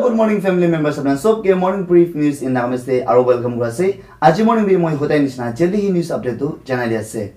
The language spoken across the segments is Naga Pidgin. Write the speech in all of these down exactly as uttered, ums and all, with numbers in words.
Good morning, family members. Apna sob ke morning brief news in Nagamese te aro welcome kura ase. Aji morning bi moi hodai nishina jaldi hi news update tu janai di ase.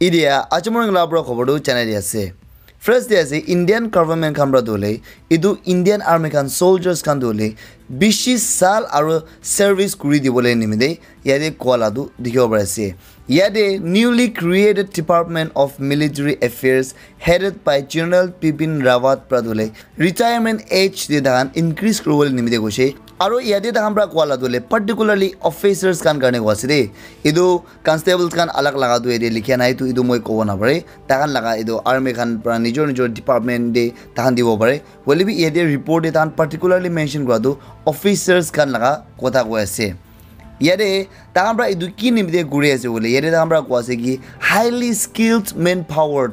Idia aji morning la pura khobor tu janai di ase. First de ase Indian government khan pra tu hoile, etu Indian army khan soldiers khan tu hoile bishi sal aro service kuri dibole nimite yate koa la tu dikhibo pari ase. Yate newly created Department of Military Affairs headed by General Bipin Rawat pra tu hoile retirement age de tahan increase kuribole nimite koise. Aro yate tahan pra koa la tu hoile particularly officers khan karne koa ase de. Etu constables khan alag laga tu yate likhia nai tu etu moi kobo napare. Tahan laga etu army khan pra nijor nijor department de tahan dibo pare. Hoile bi yate report de tahan particularly mention kura tu officers khan laga kotha koi ase. Yate tahan pra etu ki nimite kuri ase koile, yate tahan pra koi ase ki highly skilled manpower.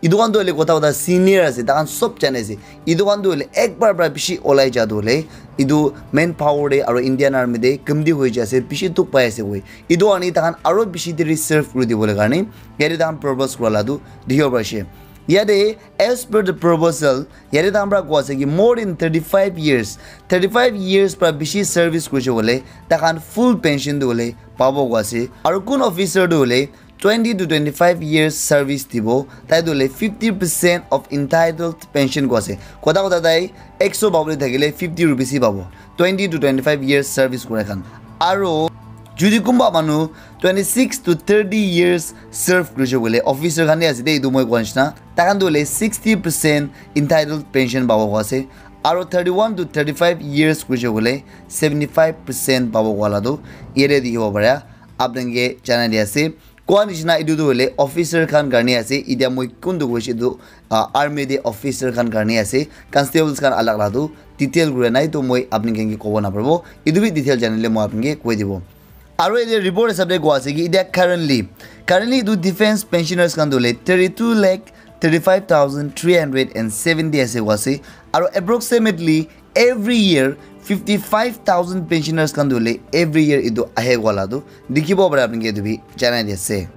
Etu khan tu hoile kotha kotha senior ase, tahan sob jane ase. Etu khan tu hoile ekbar pra bishi olai ja tu hoile, etu manpower de aro Indian army de kamti hoi ja ase, bishi dukh pai ase koi. Etu ani tahan aro bishi deri serve kuri dibole karne, yate tahan propose kura la tu dikhibo pari ase. Yate, as per the proposal, yate tahan pra koi ase ki more than thirty-five years, thirty-five years pra bishi service kurise koile, tahan full pension tu hoile pabo koi ase. Aro kun officer tu hoile twenty to twenty-five years service dibo, tai tu hoile fifty percent of entitled pension koi ase. Kotha kotha tai ekso pabole thakile fifty rupees hi pabo, twenty to twenty-five years service kura khan. Aro jodi kunba manu twenty-six to thirty years serve kurise koile, officer khan de ase de, etu moi koa nishina, taikhan tu hoile sixty percent entitled pension pabo koi ase. Aro thirty-one to thirty-five years kurise koile seventy-five percent pabo koi la tu yate dikhibo pare, apni khan ke janai di ase. Koa nishina etu tu hoile officer khan karne ase. Itia moi kuntu koise etu, ah, army de officer khan karne ase. Constables khan alag la tu detail kura nai, to moi apni khan ke kobo naparibo. Etu bi detail janile moi apni ke koi dibo. Aro yate report hisab de koa ase ki itia currently, currently etu defense pensioners khan tu hoile thirty-two lakh thirty-five thousand three hundred and seventy ase koa ase. Aro approximately every year fifty-five thousand pensioners khan tu hoile every year etu ahe koa la tu dikhibo pare, apni ke etu bi janai di ase.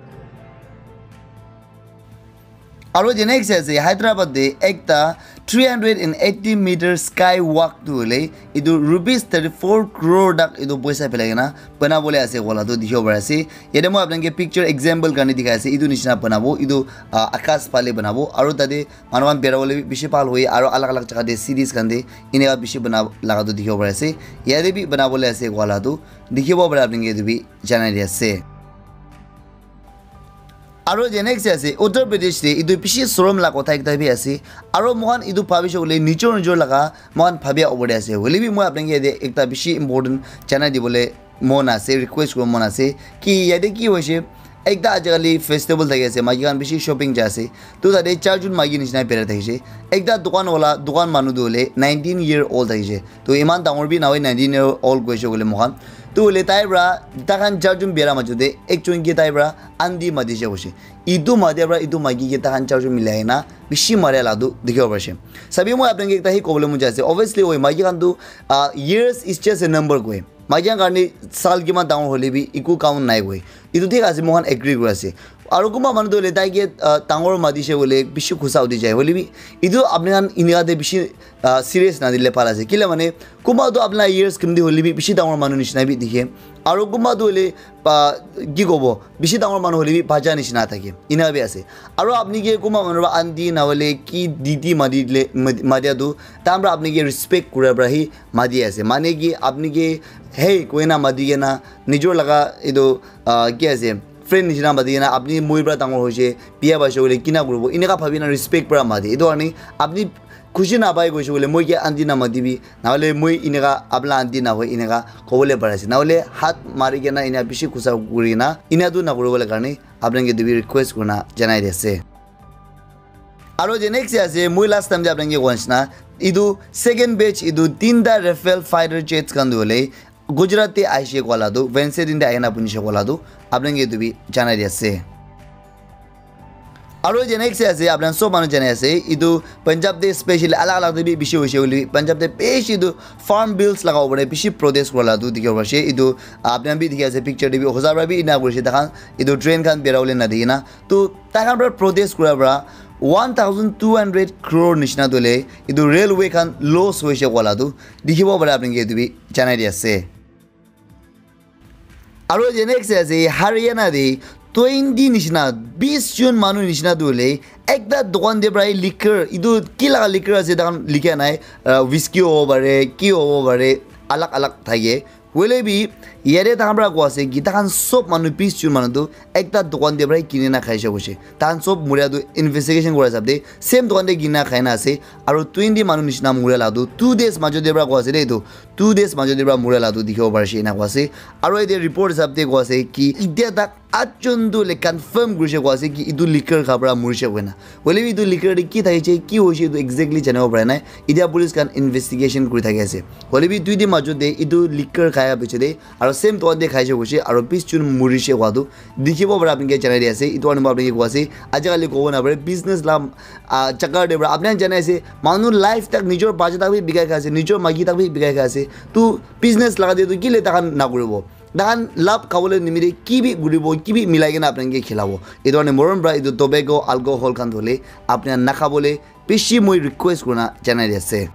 Aro the next ase Hyderabad de ekta three hundred and eighty meter sky walk tu hoile etu rupees thirty-four crore tak etu poisa pelai kena bana bole ase koa la tu dikhibo pare ase. Yate moi apni ke picture example karne dikhai ase, etu nishina banabo, etu, ah, akas phale banabo, aro tate manu khan bera bole bi bishi bhal hoi, aro alag alag jaga de cities khan de enika bishi bana laga tu dikhibo pari ase. Yate bi bana bole ase koa la tu dikhibo pare, apni ke etu bi janai di ase. Aro the next ase Uttar Pradesh de, etu bishi sorom la kotha ekta bi ase. Aro moikhan etu bhabishe koile nijor nijor laga moikhan bhabia opor de ase. Hoile bi moi apni ke yate ekta bishi important janai dibole mon ase, request kuribo mon ase ki yate ki hoise, ekta ajikali festival thaki ase, maiki khan bishi shopping jai ase. To tate charjon maiki nishina berai thakishe. Ekta dukan wala, dukan manu tu hoile nineteen year old thakishe. To iman dangor bi nahoi nineteen year old koishe koile moikhan. To hoile tai pra, taikhan charjon bera majo de ekjon ke tai pra aunty matishe koishe. Etu matia pra etu maiki ke taikhan charjon milai na bishi maria la tu dikhibo parishe. Sabi moi apni ke ekta hi kobole mon jai ase. Obviously, oi maiki khan tu, ah, years is just a number koi. Maiki khan karne sal kiman dangor hoile bi eku count nai koi. Etu thik ase, moikhan agree kuri ase. Aro kunba manu tu hoile tai ke, ah, dangor matishe hoile bishi khusa uthi jai. Hoile bi etu apni khan enika te bishi, ah, serious nadile bhal ase. Kile mane kunba tu apni la years kimti hoile bi bishi dangor manu nishina bi dikhe. Aro kunba tu hoile, ah, ki kobo, bishi dangor manu hoile bi bacha nishina thake. Ena bi ase. Aro apni ke kunba manu pra aunty na hoile ki didi mati dile, mati, matia tu, tai pra apni ke respect kura pra hi mati ase. Mane ki apni ke hey koina mati kena nijor laga etu, ah, ki ase, friend nishina mati kena apni moi pra dangor hoishe, biya paishe koile kina kuribo, eneka bhabi na respect pra mati. Etu karne apni khushi napai koishe koile moi ke aunty na matibi, na hoile moi eneka apni la aunty na hoi eneka kobole pari ase. Na hoile hat mari kena ena bishi khusa kuri na ena tu na kuribole karne apni ke etu bi request kurina janai di ase. Aro the next ase, moi last time te apni ke koa nishina, etu second batch etu tinta Rafale fighter jets khan tu hoile Gujarat te aishe koa la tu, Wednesday din te ahina punishe koa la tu, apni ke etu bi janai di ase. Aro je next ase, apni khan sob manu jane ase, etu Punjab te specially alag alag te bi bishi hoise hoile bi, Punjab te bishi etu farm bills laga opor te bishi protest kura la tu dikhibo pari ase. Etu apni khan bi dikhi ase, picture te bi hosa para bi ena kuri ase, takhan etu train khan bera bole na di kena. To takhan para protest kura para one thousand two hundred crore nishina tu hoile etu railway khan loss hoise koa la tu dikhibo pare, apni ke etu bi janai di ase. Aro je next ase, Haryana te twenty nishina, bis jon manu nishina tu hoile ekta dukan te para liquor, etu ki laga liquor ase, takhan likha nai, ah, whisky hobo pare, ki hobo pare, alag alag thake. Hoile bi yate takhan para koa ase ki takhan sob manu, bis jon manu tu ekta dukan te para kini na khaise koise. Takhan sob muria tu investigation kura hisab te same dukan te kini na khai na ase. Aro twenty manu nishina muria la tu two days majo te para koa ase de etu. Two days majo te para muria la tu dikhibo pari ase, ena koa ase. Aro yate report hisab te koa ase ki etia tak atjon tu le confirm kurise koa ase ki etu liquor kha para murise koina. Hoile bi etu liquor te ki thakise, ki hoise, etu exactly janibo para nai. Etia police khan investigation kuri thaki ase. Hoile bi duiti majo te etu liquor khaya piche te aro same dukan te khaise koise aro bis jon murise koa tu dikhibo para apni ke janai di ase. Etu karne moi apni ke koa ase, aji kali kobo na pare, business la, ah, jaga te para apni khan janai ase, manu life tak, nijor bacha tak bi bikai khai ase, nijor maki tak bi bikai khai ase. Tu business laga te tu kile takhan na kuribo? Takhan lab khabole nimite ki bi kuribo, ki bi milai kena apni ke khilabo. Etu karne morom para etu tobacco, alcohol khan tu hoile apni khan na khabole bishi moi request kurina janai di ase.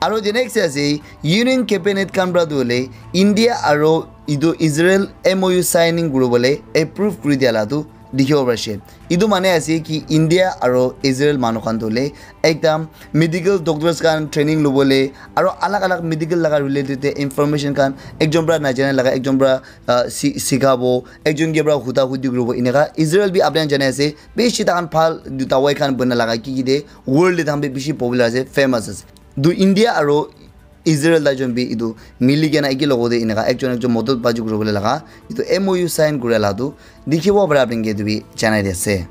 Aro je next ase, Union Cabinet khan para tu hoile India aro etu Israel M O U signing kuribole approve kuri dia la tu dikhibo pari ase. Etu mane ase ki India aro Israel manu khan tu hoile ekdam medical doctors khan training lobole aro alag alag medical laga related te information khan ekjon para najana laga ekjon para, ah, si-, sikhabo, ekjon ke para huda hudi kuribo, eneka Israel bi apni khan jane ase, bishi takhan bhal dawai khan bana laga ki ki de world te takhan bi bishi popular ase, famous ase. Tu India aro Israel tai jon bi etu mili kena eki logo te eneka ekjon ekjon modot baji kuribole laga etu M O U sign kura la tu dikhibo para apni ke etu bi janai di ase.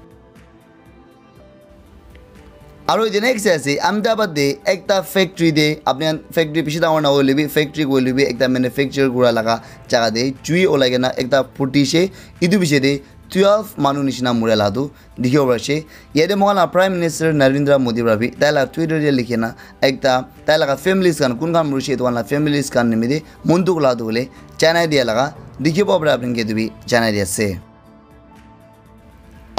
Aro etu next ase, Ahmedabad te ekta factory te, apni khan factory bishi dangor na hoile bi, factory koile bi, ekta manufacture kura laga jaga te jui olai kena ekta phutishe, etu piche te twelve manu nishina muria la tu dikhibo pari ase. Yate moikhan la Prime Minister Narendra Modi para bi tai la Twitter te likhi na ekta tai laga families khan, kun khan murishe, etu khan la families khan nimite mon dukh la tu hoile janai dia laga dikhibo pare, apni ke etu bi janai di ase.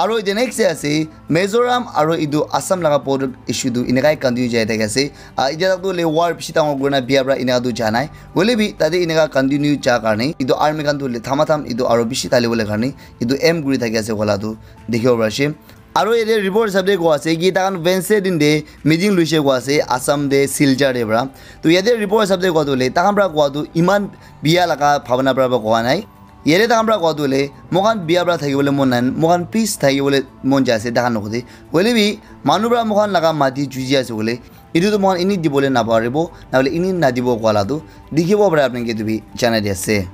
Aro etu next te ase, Mizoram aro etu Assam laga border issue tu enekai continue jai thaki ase. Ah, etia tak tu hoile war bishi dangor kurina bia para eneka tu ja nai. Hoile bi tate eneka continue ja karne etu army khan tu hoile thama tham etu aro bishi thali bole karne etu aim kuri thaki ase koa la tu dikhibo pari ase. Aro yate report hisab te koa ase ki takhan Wednesday din te meeting loise koa ase Assam te Silchar te para. To yate report hisab te koa tu hoile takhan para koa tu eman bia laga bhabana para koa nai. Yate takhan para koa tu hoile, moikhan bia para thakibole mon nai, moikhan peace thakibole mon jai ase takhan logote. Hoile bi manu para moikhan laga mati juji ase koile, etu tu moikhan eni dibole naparibo, nahole eni nadibo koa la tu dikhibo pare, apni ke etu bi janai di ase.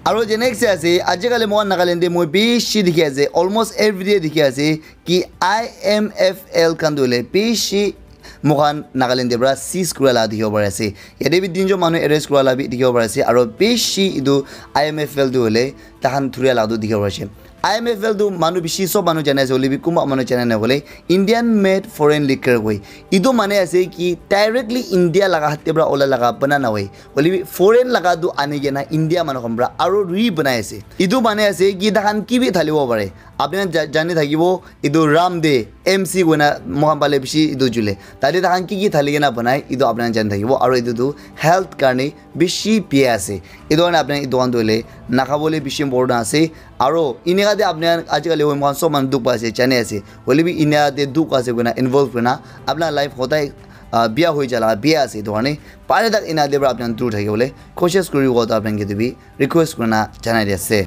Aro je next ase, ajikali moikhan Nagaland te moi bishi dikhi ase, almost everyday dikhi ase, ki I M F L khan tu hoile bishi moikhan Nagaland te para seize kura la dikhibo pari ase. Yate bi tinjon manu arrest kura la bi dikhibo pari ase, aro bishi etu I M F L tu hoile takhan thuria la tu dikhibo pari ase. I M F L tu manu bishi sob manu jane ase, hoile bi kunba manu jane na hoile Indian made foreign liquor koi. Etu mane ase ki directly India laga hath te para ola laga bana na hoi. Hoile bi foreign laga tu ani kena India manu khan para aro re banai ase. Etu mane ase ki takhan ki bi thalibo pare. Apni khan ja-, jani thakibo, etu ram de M C koina moikhan pale bishi etu jule. Tate takhan ki ki thali kena banai, etu apni khan jani thakibo. Aro etu tu health karne bishi bia ase. Etu karne apni khan etu khan tu hoile nakhabole bishi important ase. Aro eneka de apni khan ajikali hoi moikhan sob manu dukh pai ase, jani ase. Hoile bi eneka de dukh ase koina involve koina apni khan life hodai, ah, bia hoi jala bia ase. Etu karne pare tak eneka de para apni khan dur thakibole koshish kuribo, to apni khan ke etu bi request kurina janai di ase.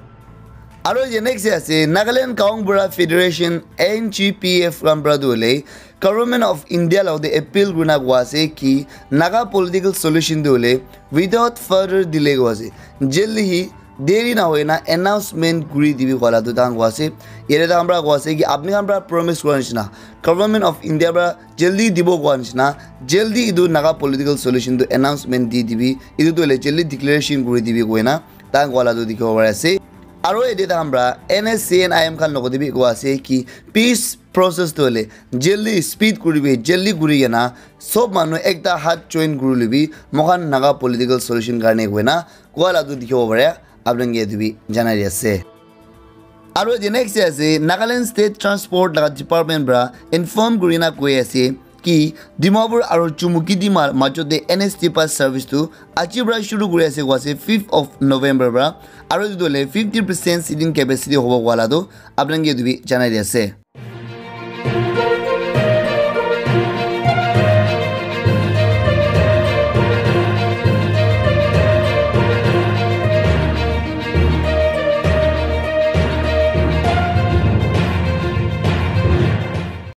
Aro je next ase, Nagaland Gaonbura Federation, N G P F, khan para tu hoile Government of India la te appeal kurina koa ase ki Naga political solution tu hoile without further delay koa ase. Jaldi hi deri na hoina announcement kuri dibi koa la tu takhan koa ase. Yate takhan para koa ase ki apni khan para promise kura nishina, Government of India para jaldi dibo koa nishina, jaldi etu Naga political solution tu announcement di dibi, etu tu hoile jaldi declaration kuri dibi koina takhan koa la tu dikhibo pari ase. Aro yate takhan pra N S C N I M khan logate bi koa ase ki peace process tu hoile jaldi speed kuribi, jaldi kuri kena sob manu ekta hat join kuribole bi moikhan Naga political solution karne koina koa la tu dikhibo pare. Apnake etu bi janai di ase. Aro the next day ase Nagaland State Transport laga department pra inform kurina koi ase ki Dimapur aro Chumukedima majote N S T pass service tu aji pra shuru kuri ase koa ase fifth of November pra. Aro etu tu hoile fifty percent seating capacity hobo koa la tu apnake etu bi janai di ase.